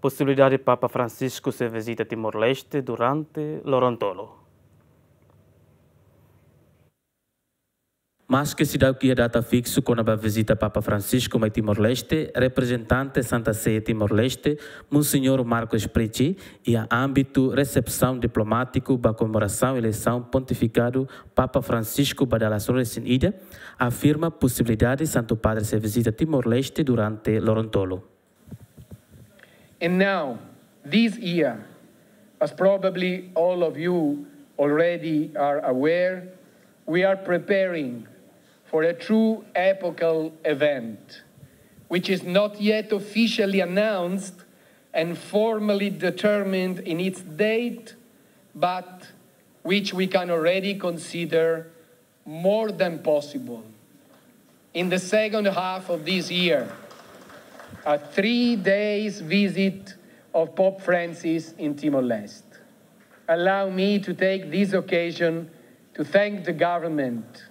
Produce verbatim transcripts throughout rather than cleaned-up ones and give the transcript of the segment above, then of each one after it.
Posibilidade Papa Francisco sei vizita Timor-Leste durante loron tolu. Maske seidauk iha data fiksu kona-ba vizita Papa Francisco mai Timor-Leste, reprezentante Santa Sé Timor-Leste, Monsenhor Marcos Prici, iha ámbitu resepsaun diplomátiku ba komemorasaun eleisaun pontifikadu Papa Francisco ba dala sanulu-resin-ida, afirma posibilidade Santu Padre sei vizita Timor-Leste durante loron tolu. And now, this year, as probably all of you already are aware, we are preparing for a true epochal event, which is not yet officially announced and formally determined in its date, but which we can already consider more than possible. In the second half of this year, a three days visit of Pope Francis in Timor-Leste. Allow me to take this occasion to thank the government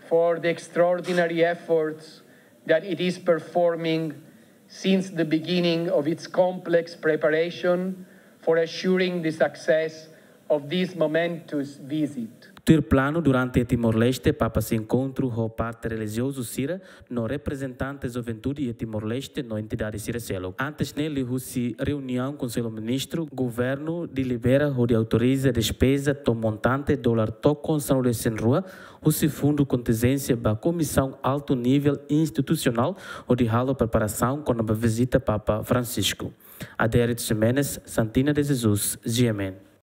for the extraordinary efforts that it is performing since the beginning of its complex preparation for assuring the success of this momentous visit. Tuir planu, durante Timor-Leste, Papa sei enkontru ho parte relijiozu sira no reprezentante juventude iha Timor-Leste no entidade sira seluk. Antes ne'e, liuhusi reuniaun Konsellu Ministru, governu delibera hodi autoriza despeza to'o montante dolar tokon sanulu-resin-rua, husi fundu kontinjénsia ba komisaun altu nivel institusionál hodi halo preparasaun kona-ba vizita Papa Francisco. Adérito Ximenes, Santina de Jesus, G M N.